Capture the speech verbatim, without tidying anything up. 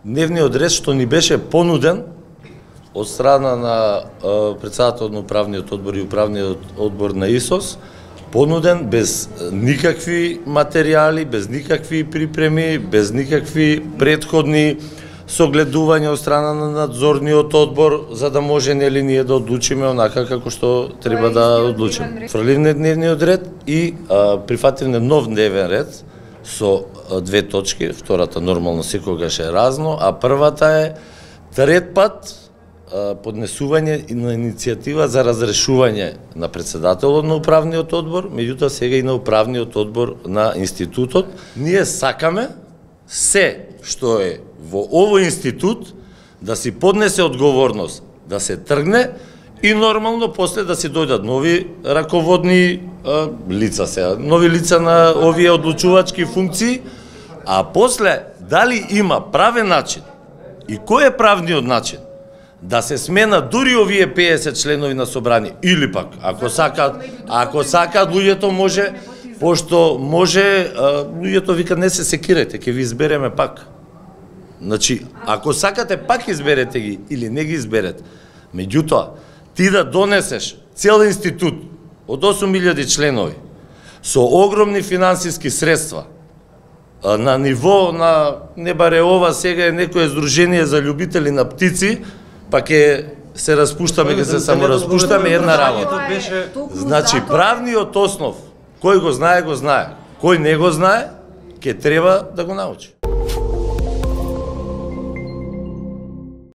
дневниот ред што ни беше понуден од страна на председател на управниот одбор и управниот одбор на ИСОС, понуден без никакви материјали, без никакви припреми, без никакви претходни согледување од страна на надзорниот одбор, за да може нели ние да одлучиме онака како што треба да одлучиме. Фрливне дневниот ред и а, прифативне нов дневен ред со а, две точки, втората нормално секогаш е разно, а првата е трет пат а, поднесување на иницијатива за разрешување на председателот на управниот одбор, меѓутоа сега и на управниот одбор на институтот. Ние сакаме се што е во овој институт да си поднесе одговорност, да се тргне и нормално после да се дојдат нови раководни а, лица сега, нови лица на овие одлучувачки функции, а после дали има правен начин и кој е правниот начин да се смена дури овие педесет членови на собрание, или пак ако сакаат, ако сакаат луѓето може, пошто може, а, луѓето викат не се секирајте, ќе ви избереме пак. Значи, ако сакате пак изберете ги или не ги изберете, меѓутоа ти да донесеш цел институт од осум илјади членови со огромни финансиски средства на ниво на не баре ова сега е некое здружение за љубители на птици, па ќе се распуштаме, ќе се само распуштаме една работа. Значи правниот основ, кој го знае, го знае. Кој не го знае, ќе треба да го научи.